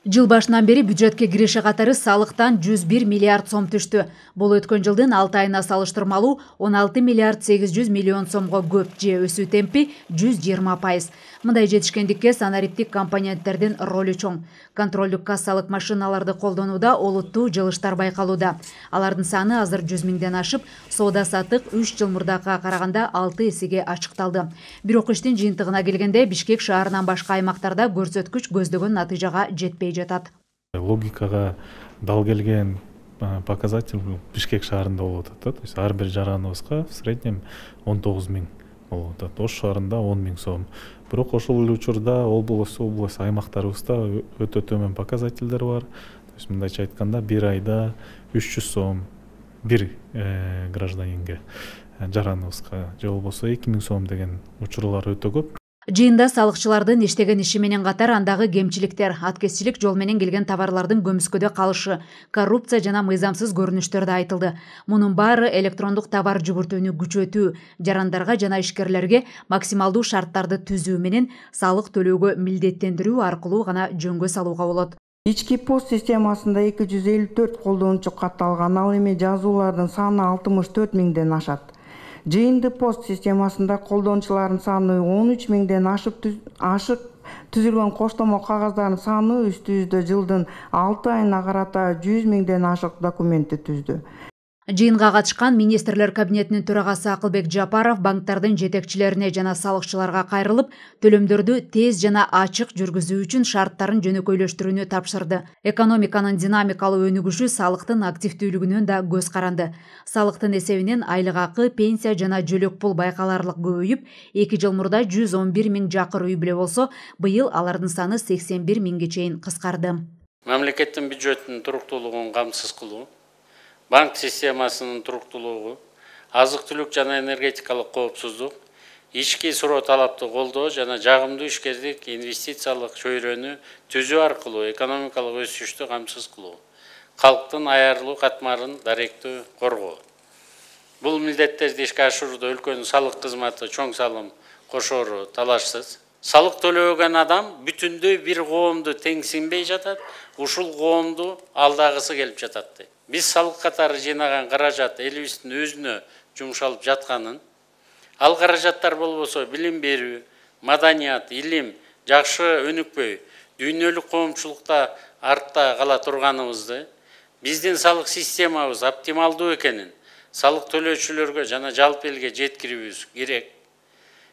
Жыл башынан бери бюджетке киреше катары салыктан 101 миллиард сом түштү. Бул өткөн жылдын 6 айына салыштырмалуу 16 миллиард 800 миллион сомго көп, же өсүү темпи 120%. Мындай жетишкендикке санариптик компоненттердин ролу чоң. Контролдук кассалык машиналарды колдонууда олуттуу жылыштар байкалууда. Алардын саны азыр 100 миңден ашып, соода саттык 3 жыл мурдакыга караганда 6 эсеге ачыкталды. Бирок иштин жыйынтыгына келгенде Бишкек шаарынан башка аймактарда көрсөткүч көздөгөн натыйжага жетпей жатат. Логикага дал келген показатель Бишкек шаарында болуп атат. То есть ар бир жараныбызга в среднем 19 миң болуп атат. Ош шаарында 10 миң сом. Бирок ошол эле учурда область аймактарыбызда өтө төмөн показательдер бар. То есть мындайча айтканда бир айда 300 сом бир гражданинге, жараныбызга, же болбосо 2000 сом деген учурлар өтө көп. Жыйында салыкчылардын иштеген иши менен катар андагы кемчиликтер, аткезчилик жол менен келген товарлардын көмүскөдө калышы, коррупция жана мыйзамсыз көрүнүштөр да айтылды. Мунун баары электрондук товар жүгүртүүнү күчөтүү, жарандарга жана ишкерлерге максималдуу шарттарды түзүү менен салык төлөөгө милдеттендирүү аркылуу гана жөнгө салууга болот. Ички пост системасында 254 колдонуучу катталган, ал эми жазуулардын саны 64 миңден ашат. Жыйынды пост системасында колдонуучулардын саны 13 миңден ашып түзүлгөн коштомо кагаздардын саны үстүбүздө жылдын 6 айына карата 100 миңден ашык документти түздү. Жыйынга катышкан министрлер кабинетинин төрагасы Акылбек Жапаров банктардын жетекчилерине жана салыкчыларга кайрылып, төлөмдөрдү тез жана ачык жүргүзүү үчүн шарттарын жөнөкөйлөштүрүүнү тапшырды. Экономиканын динамикалуу өнүгүшү салыктын активдүүлүгүнөн да көз каранды. Салыктын эсебинен айлык акы, пенсия жана жөлөк пул байкаларлык көбөйүп, 2 жыл мурда 111 миң жакыр үй бүлө болсо, быйыл алардын саны 81 миңге чейин кыскарды. Мамлекеттин бюджетинин туруктуулугун камсыз кылуу, банк системасынын туруктуулугу, азык-түлүк жана энергетикалык коопсуздук, ички суроо талапты колдоо жана жагымдуу ишкердик инвестициялык чөйрөнү түзүү аркылуу экономикалык өсүштү камсыз кылуу, калктын аярлуу катмарын даректүү коргоо. Бул милдеттерди ишке ашырууда өлкөнүн салык кызматы чоң салым кошоору талашсыз. Салык төлөгөн адам бүтүндөй бир коомду теңсинбей жатат, ушул коомду алдагысы келип жатат. Биз салык катары жыйнаган каражат элибиздин өзүнө жумшалып жатканын, ал каражаттар болбосо билим берүү, маданият, илим жакшы өнүкпөй, дүйнөлүк коомчулукта артта кала турганыбызды, биздин салык системабыз оптималдуу экенин салык төлөөчүлөргө жана жалпы элге жеткирүүбүз керек.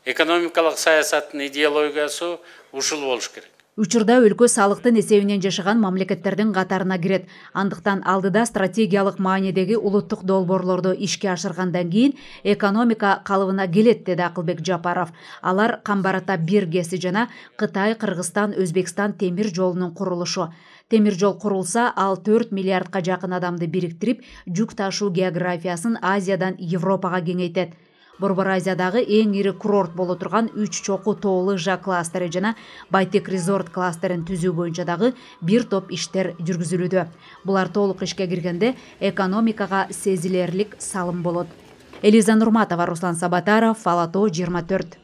Экономикалык саясаттын идеологиясы ушул болуш керек. Учурда өлкө салыктын эсебинен жашаган мамлекеттердин катарына кирет. Андыктан алдыда стратегиялык маанидеги улуттук долбоорлорду ишке ашыргандан кийин экономика калыбына келет, деди Акылбек Жапаров. Алар Камбарата 1 ГЭСи жана Кытай, Кыргызстан, Өзбекстан темир жолунун курулушу. Темир жол курулса, ал 4 миллиардка жакын адамды бириктирип, жүк ташуу географиясын Азиядан Европага кеңейтет. Борбор Азиядагы эң ири курорт боло турган 3 чокуу тоолуу Жа кластери жана Байтек резорт кластерин түзүү боюнча дагы бир топ иштер жүргүзүлүүдө. Булар толук ишке киргенде экономикага сезилерлик салым болот. Элиза Нурматова, Руслан Сабатаров, Ала Тоо 24.